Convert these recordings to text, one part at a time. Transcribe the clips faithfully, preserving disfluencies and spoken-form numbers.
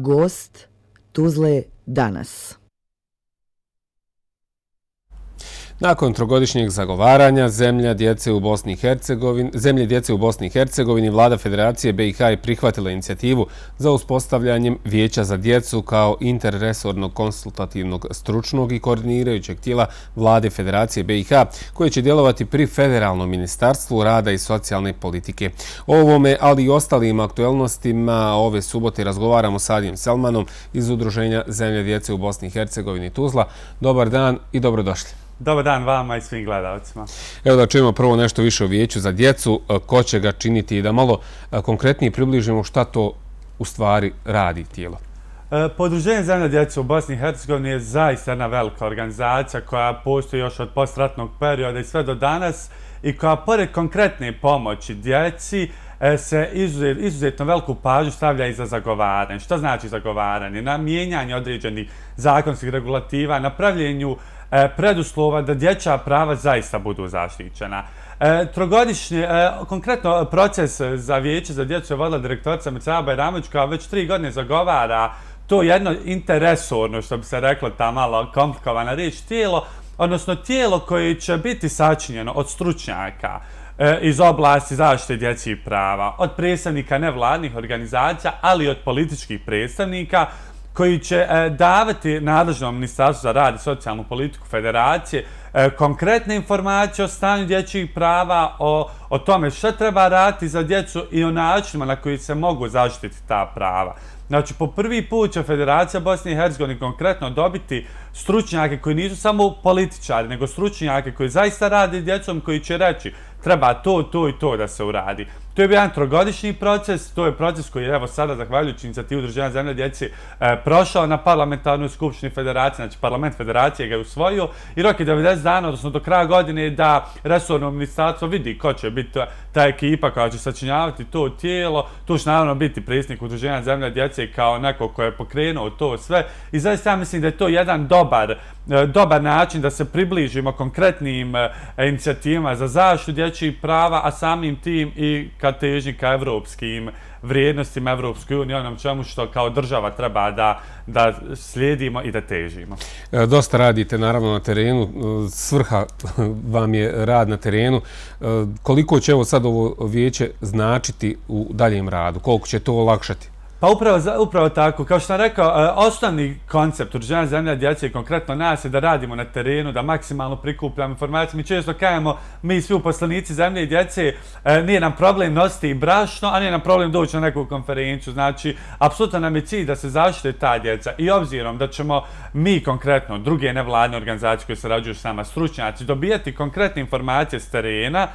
Gost Tuzle danas. Nakon trogodišnjeg zagovaranja zemlja djece u Bosni i Hercegovini, zemlje djece u Bosni i Hercegovini, vlada Federacije B i H je prihvatila inicijativu za uspostavljanjem Vijeća za djecu kao interresornog konsultativnog stručnog i koordinirajućeg tijela vlade Federacije B i H, koje će djelovati pri Federalnom ministarstvu rada i socijalne politike. O ovome, ali i ostalim aktuelnostima ove subote razgovaramo s Adijem Selmanom iz Udruženja Zemlje djece u Bosni i Hercegovini Tuzla. Dobar dan i dobrodošli. Dobar dan vama i svim gledalcima. Evo da čujemo prvo nešto više o Vijeću za djecu, ko će ga činiti i da malo konkretnije približimo šta to u stvari radi tijelo. Udruženje Zemlje djece u Bosni i Hercegovini je zaista jedna velika organizacija koja postoji još od postratnog perioda i sve do danas i koja pored konkretne pomoći djeci se izuzetno veliku pažnju stavlja i za zagovaranje. Šta znači zagovaranje? Na mijenjanje određenih zakonskih regulativa, na pravljenju preduslova da dječja prava zaista budu zaštićena. Trogodišnji, konkretno proces za Vijeće za djecu je vodila direktorica Mircea Bajramović koja već tri godine zagovara to jedno interresorno, što bi se reklo ta malo komplikovana riječ, tijelo, odnosno tijelo koje će biti sačinjeno od stručnjaka iz oblasti zaštite dječjih prava, od predstavnika nevladnih organizacija, ali i od političkih predstavnika koji će davati nadležnom Ministarstvu za rad i socijalnu politiku Federacije konkretne informacije o stanju dječjih prava, o, o tome što treba raditi za djecu i o načinima na koji se mogu zaštiti ta prava. Znači, po prvi put će Federacija Bosne i Hercegovine konkretno dobiti stručnjake koji nisu samo političari, nego stručnjake koji zaista rade s djecom, koji će reći treba to, to i to da se uradi. To je bio jedan trogodišnji proces, to je proces koji je evo sada, zahvaljujući inicijativu Udruženja Zemlje djece, e, prošao na parlamentarnoj skupštini Federacije, znači parlament Federacije ga je usvojio i rok je devedeset dana, odnosno do kraja godine, da resorno ministarstvo vidi ko će biti ta ekipa koja će sačinjavati to tijelo. Tu će naravno biti predsjednik Udruženja Zemlje djece kao neko ko je pokrenuo to sve i zaista ja mislim da je to jedan dobar, dobar način da se približimo konkretnim inicijativama za zaštitu dječjih prava, a samim tim i ka težnji ka evropskim vrijednostima Evropskoj uniji, onom čemu što kao država treba da, da slijedimo i da težimo. E, dosta radite naravno na terenu, svrha vam je rad na terenu. E, koliko će evo sad ovo vijeće značiti u daljem radu? Koliko će to olakšati? Pa upravo, upravo tako. Kao što sam rekao, osnovni koncept Udruženja Zemlje djece i konkretno nas je da radimo na terenu, da maksimalno prikupljamo informacije. Mi često kažemo, mi svi uposlenici Zemlje i djece, nije nam problem nositi brašno, a nije nam problem doći na neku konferenciju. Znači, apsolutno nam je cilj da se zaštite ta djeca i obzirom da ćemo mi konkretno, druge nevladne organizacije koje sarađuju s nama, stručnjaci, dobijati konkretne informacije s terena,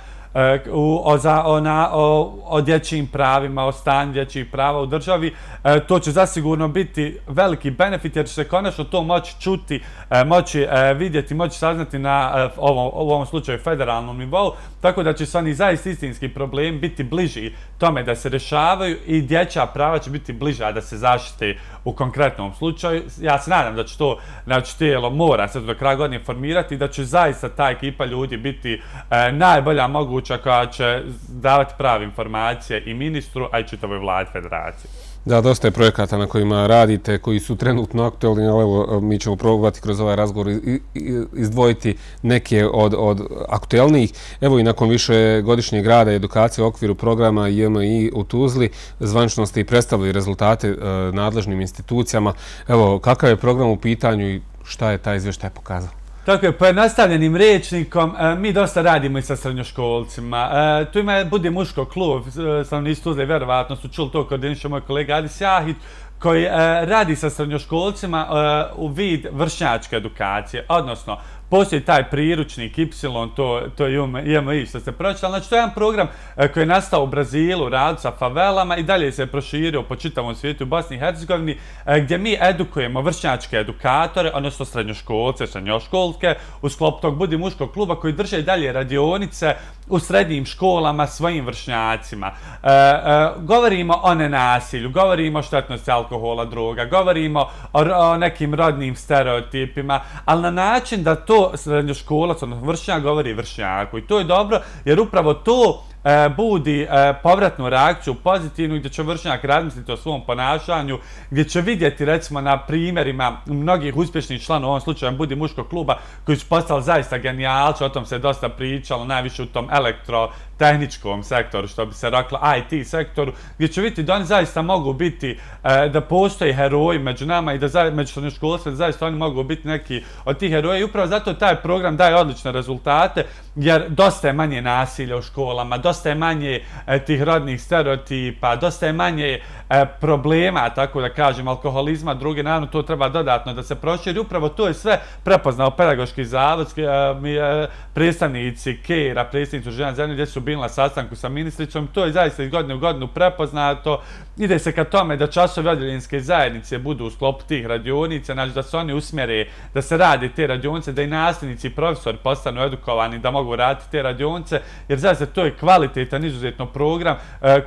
U, o, za, o, na, o, o dječjim pravima, o stanju dječjih prava u državi. E, to će zasigurno biti veliki benefit jer će se konačno to moći čuti, e, moći e, vidjeti, moći saznati na e, ovom, u ovom slučaju federalnom nivou, tako da će se oni zaista istinski problemi biti bliži tome da se rješavaju i dječja prava će biti bliža da se zaštite u konkretnom slučaju. Ja se nadam da će to znači, tijelo mora se do kraja godine formirati i da će zaista ta ekipa ljudi biti e, najbolja moguća koja će davati prave informacije i ministru, a i čitavoj vladi Federacije. Da, dosta je projekata na kojima radite, koji su trenutno aktualni, ali evo, mi ćemo probati kroz ovaj razgovor izdvojiti neke od, od aktuelnijih. Evo i nakon više godišnjeg rada i edukacije u okviru programa J M I u Tuzli, zvanično ste i predstavili rezultate e, nadležnim institucijama. Evo, kakav je program u pitanju i šta je taj izvještaj pokazao? Tako je, pojednostavljenim rječnikom, mi dosta radimo i sa srednjoškolcima. Tu ima Budi muško klub, stanovnici Tuzle, vjerovatno su čuli to, koordiniše moj kolega Adis Jahić, koji radi sa srednjoškolcima u vid vršnjačke edukacije, odnosno postoji taj priručnik Y, to, to je J M I što ste pročitali. Znači, to je jedan program koji je nastao u Brazilu, radu sa favelama i dalje se proširio po čitavom svijetu u Bosni i Hercegovini, gdje mi edukujemo vršnjačke edukatore, odnosno srednjoškolce, srednjoškolke, u sklopu tog Budi muškog kluba koji drže i dalje radionice u srednjim školama svojim vršnjacima. E, e, govorimo o nenasilju, govorimo o štetnosti alkohola, droga, govorimo o, o nekim rodnim stereotipima, ali na način da to srednjoškolac, odnosno vršnjak, govori vršnjaku. I to je dobro, jer upravo to budi povratnu reakciju pozitivnu, gdje će vršnjak razmisliti o svom ponašanju, gdje će vidjeti recimo na primjerima mnogih uspješnih članova, u ovom slučaju Budi muškog kluba, koji su postali zaista genijalci, o tom se dosta pričalo, najviše u tom elektrotehničkom sektoru, što bi se reklo I T sektoru, gdje će vidjeti da oni zaista mogu biti, da postoji heroji među nama i da među srednjoškolstvima zaista oni mogu biti neki od tih heroja i upravo zato taj program daje odlične rezultate, jer dosta je manje nasilja u školama, dosta je manje tih rodnih stereotipa, dosta je manje problema, tako da kažem, alkoholizma, druge, naravno to treba dodatno da se proširi. Upravo to je sve prepoznao pedagoški zavod, predstavnici Kera, predstavnici Udruženja zemlje, gdje su bili na sastanku sa ministricom. To je zaista iz godine u godinu prepoznato. Ide se ka tome da časovi odjeljenske zajednice budu u sklopu tih radionica, znači da se oni usmjere, da se radi te radionice, da i nastavnici i profesori postanu edukovani, da mogu raditi te radionice, jer zaista to je kvalitetan, izuzetno program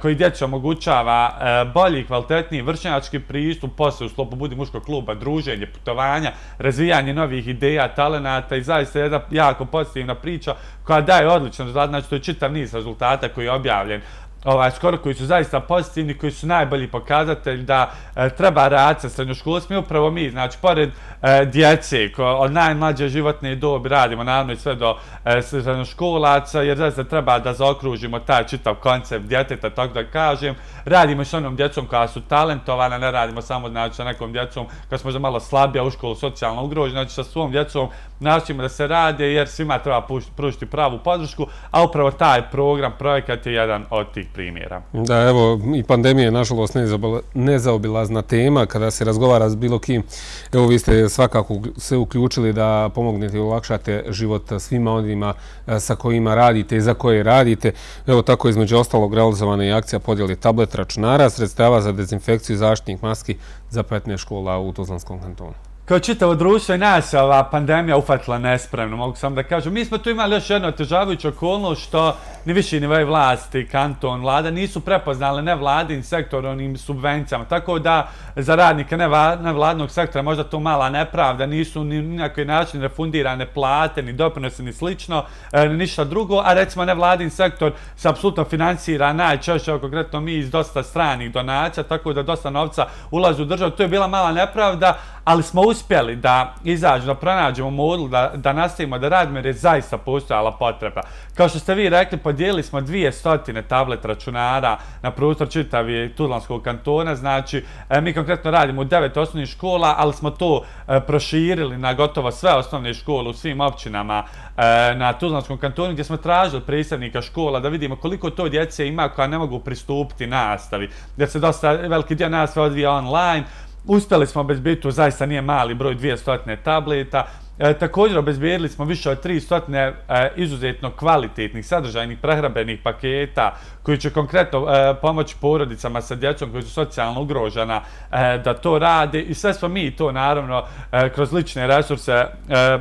koji djeci omogućava bolji i kvalitetniji vršnjački pristup, posle u sklopu Budi muškog kluba, druženje, putovanja, razvijanje novih ideja, talenata i zaista jedna jako pozitivna priča koja daje odličan rezultat. Znači to je čitav niz rezultata koji je objavljen Ovaj, skoro koji su zaista pozitivni, koji su najbolji pokazatelj da e, treba raditi sa srednjoškolskim. Upravo mi, znači, pored e, djece, ko, od najmlađe životne dobi radimo, naravno i sve do e, srednjoškolaca, jer zaista treba da zaokružimo taj čitav koncept djeteta, tako da kažem. Radimo i s onom djecom koja su talentovana, ne radimo samo znači, sa nekom djecom koja su možda malo slabija u školu, socijalno ugrožena, znači sa svom djecom nastavimo da se rade, jer svima treba pružiti pravu podršku, a upravo taj program, projekat je jedan od tih primjera. Da, evo, i pandemija je nažalost nezaobilazna tema kada se razgovara s bilo kim. Evo, vi ste svakako se uključili da pomognete i olakšate život svima onima sa kojima radite i za koje radite. Evo, tako između ostalog realizovana je akcija podjeli tablet računara, sredstava za dezinfekciju zaštitnih maski za petnaest škola u Tuzlanskom kantonu. Kao čitavo društvo i nas ova pandemija ufatila nespremno, mogu sam da kažem. Mi smo tu imali još jednu otežavajuću okolnost što ni viši nivoj vlasti, kanton, vlada nisu prepoznali nevladin sektor onim subvencijama. Tako da za radnike nevladnog sektora možda to mala nepravda, nisu ni na koji način refundirane plate, ni doprinosi, ni slično, ni ništa drugo. A recimo nevladin sektor se apsolutno finansira najčešće, konkretno mi, iz dosta stranih donacija, tako da dosta novca ulazi u državu. To je bila mala nepravda, ali smo uspjeli da izađemo, da pronađemo modul, da, da nastavimo da radimo jer je zaista postojala potreba. Kao što ste vi rekli, podijelili smo dvije stotine tablet računara na prostor čitavi Tuzlanskog kantona, znači mi konkretno radimo u devet osnovnih škola, ali smo to proširili na gotovo sve osnovne škole u svim općinama na Tuzlanskom kantonu, gdje smo tražili predstavnika škola da vidimo koliko to djece ima koja ne mogu pristupiti nastavi, jer se dosta veliki dio nastave odvija online. Uspjeli smo obezbediti, to zaista nije mali broj, dvjesto tableta. E, također obezbedili smo više od tristo e, izuzetno kvalitetnih, sadržajnih prehrambenih paketa koji će konkretno e, pomoći porodicama sa djecom koji su socijalno ugrožena e, da to rade i sve smo mi to naravno e, kroz lične resurse e,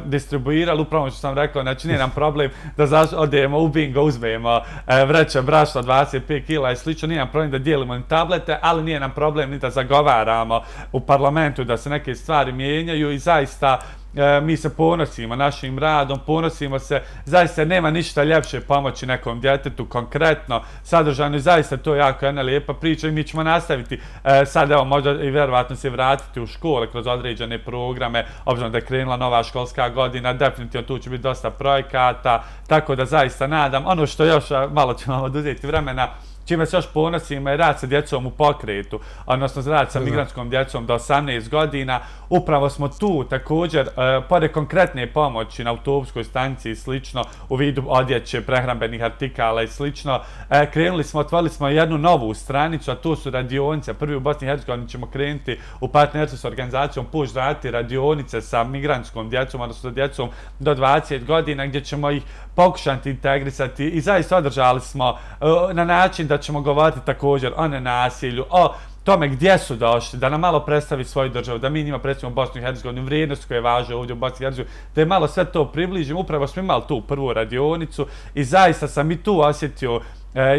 distribuirali. Upravo što sam rekao, znači nije nam problem da odemo u bingo, uzmemo e, vreće brašna dvadeset pet kila i slično, nije nam problem da dijelimo tablete, ali nije nam problem ni da zagovaramo u parlamentu da se neke stvari mijenjaju i zaista E, mi se ponosimo našim radom, ponosimo se, zaista nema ništa ljepše pomoći nekom djetetu, konkretno, sadržajno i zaista to je jako jedna lijepa priča i mi ćemo nastaviti e, sad, evo, možda i vjerovatno se vratiti u škole kroz određene programe, obzirom da je krenula nova školska godina, definitivno tu će biti dosta projekata, tako da zaista nadam, ono što još malo ćemo oduzeti vremena, čime se još ponosimo je rad sa djecom u pokretu, odnosno rad sa migrantskom djecom do osamnaest godina. Upravo smo tu također, e, pored konkretne pomoći na autobuskoj stanici i slično, u vidu odjeće, prehrambenih artikala i slično, e, krenuli smo, otvorili smo jednu novu stranicu, a to su radionice. Prvi u Bosni i Hercegovini ćemo krenuti u partnerstvu s organizacijom Puš raditi radionice sa migrantskom djecom, odnosno djecom do dvadeset godina, gdje ćemo ih pokušati integrisati i zaista održali smo e, na način da ćemo govoriti također o nenasilju, o tome gdje su došli, da nam malo predstavi svoju državu, da mi njima predstavimo Bosnu i Hercegovinu, vrijednost koje važe ovdje u Bosni i Hercegovini, da je malo sve to približimo. Upravo smo imali tu prvu radionicu i zaista sam i tu osjetio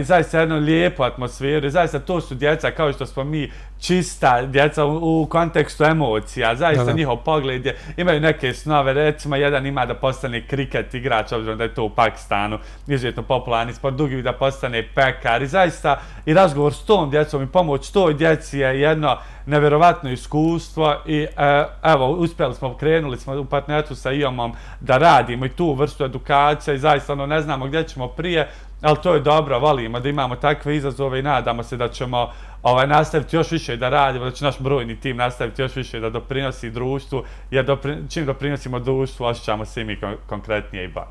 i zaista jednu lijepu atmosferu. I zaista to su djeca, kao što smo mi, čista djeca u, u kontekstu emocija. Zaista njihov pogled je, imaju neke snove. Recimo, jedan ima da postane kriket igrač, obzirom da je to u Pakistanu izuzetno popularni sport, drugi da postane pekar. I zaista i razgovor s tom djecom i pomoć toj djeci je jedno nevjerovatno iskustvo i evo, uspjeli smo, krenuli smo u partnerstvu sa I O M-om da radimo i tu vrstu edukacija i zaista ono, ne znamo gdje ćemo prije, ali to je dobro, volimo da imamo takve izazove i nadamo se da ćemo ovaj, nastaviti još više da radimo, da će naš brojni tim nastaviti još više da doprinosi društvu, jer dopri, čim doprinosimo društvu, osjećamo se i mi kon konkretnije i bolje.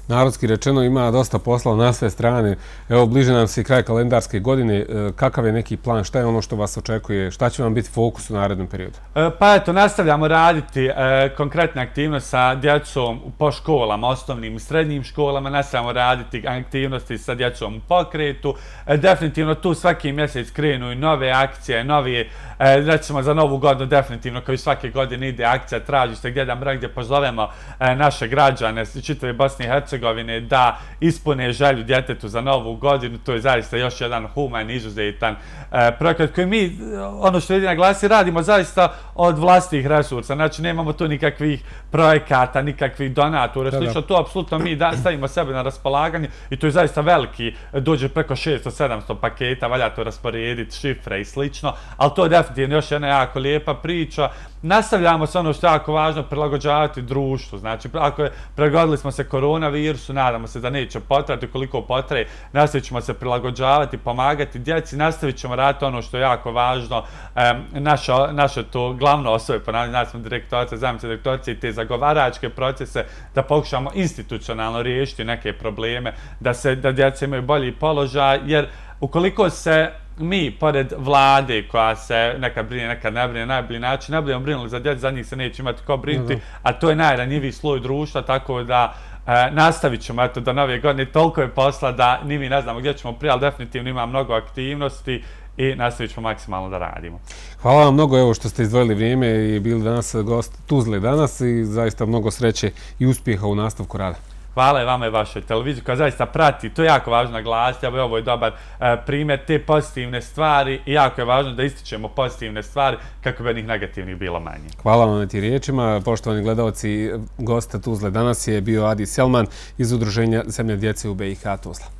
Narodski rečeno ima dosta posla na sve strane. Evo, bliže nam se i kraj kalendarske godine. Kakav je neki plan? Šta je ono što vas očekuje? Šta će vam biti fokus u narednom periodu? Pa eto, nastavljamo raditi e, konkretne aktivnosti sa djecom po školama, osnovnim i srednjim školama. Nastavljamo raditi aktivnosti sa djecom u pokretu. E, definitivno tu svaki mjesec krenu i nove akcije, novi, e, recimo za novu godinu definitivno kao i svake godine ide akcija, traži se gdje da mrak, gdje pozovemo e, naše građane čitave Bosne i Hercegovine da ispune želju djetetu za novu godinu. To je zaista još jedan human, izuzetan e, projekat koji mi, ono što vidi na glasi, radimo zaista od vlastitih resursa. Znači, nemamo tu nikakvih projekata, nikakvih donatora. Slično, to apsolutno mi da, stavimo sebe na raspolaganje i to je zaista veliki, dođe preko šesto sedamsto paketa, valja to rasporediti, šifre i slično, ali to je definitivno još jedna jako lijepa priča. Nastavljamo se ono što je jako važno, prilagođavati društvu. Znači, ako je, pregodili smo se koronavirusu, nadamo se da neće potrati, koliko potraje, nastavit ćemo se prilagođavati, pomagati djeci, nastavit ćemo raditi ono što je jako važno, e, naše, naše to glavno osobe, ponavljamo, znači smo direktorice, zamjenice direktorice i te zagovaračke procese, da pokušamo institucionalno riješiti neke probleme, da se da djeca imaju bolji položaj, jer ukoliko se mi, pored vlade koja se nekad brine, nekad ne brine, najbolji način, ne budemo brinuli za djecu, za njih se neće imati ko brinuti, a to je najranjiviji sloj društva, tako da e, nastavit ćemo eto, do nove godine. Toliko je posla da ni mi ne znamo gdje ćemo prije, ali definitivno ima mnogo aktivnosti i nastavit ćemo maksimalno da radimo. Hvala vam mnogo evo što ste izdvojili vrijeme i bili danas gost Tuzle danas i zaista mnogo sreće i uspjeha u nastavku rada. Hvala i vama i vašoj televiziji koja zaista prati, to je jako važno naglasiti, a ovo je dobar e, primjer te pozitivne stvari i jako je važno da ističemo pozitivne stvari kako bi njih negativnih bilo manje. Hvala vam na ti riječima. Poštovani gledalci, gosta Tuzle danas je bio Adi Selman iz Udruženja Zemlja djece u B i H Tuzla.